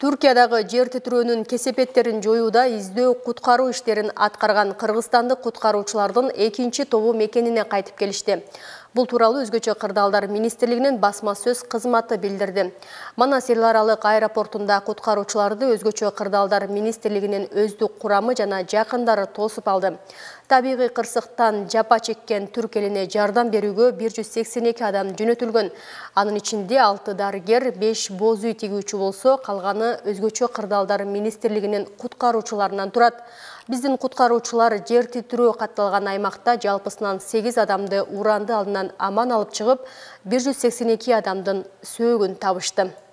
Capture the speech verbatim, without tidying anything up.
Түркиядагы жер титирөөнүн кесепеттерин жоюуда издөө куткаруу иштерин аткарган кыргызстандык куткаруучулардын экинчи тобу мекенине кайтып келишти. Бул тууралуу Өзгөчө кырдаалдар министрлигинин басма сөз кызматы билдирди. Манас эл аралык аэропортунда куткаруучуларды Өзгөчө кырдаалдар министрлигинин өздүк курамы жана жакындары тосуп алды. Табигый кырсыктан жапа чеккен түрк элине жардам берүүгө бир жүз сексен эки адам жөнөтүлгөн. Анын ичинде алты дарыгер, беш боз үй тигүүчү болсо, калганы Өзгөчө кырдаалдар министрлигинин куткаруучуларынан турат. Биздин куткаруучулар жер титирөө катталган аймакта жалпысынан сегиз адамды уранды алдынан аман алып чыгып, бир жүз сексен эки адамдын сөөгүн табышты.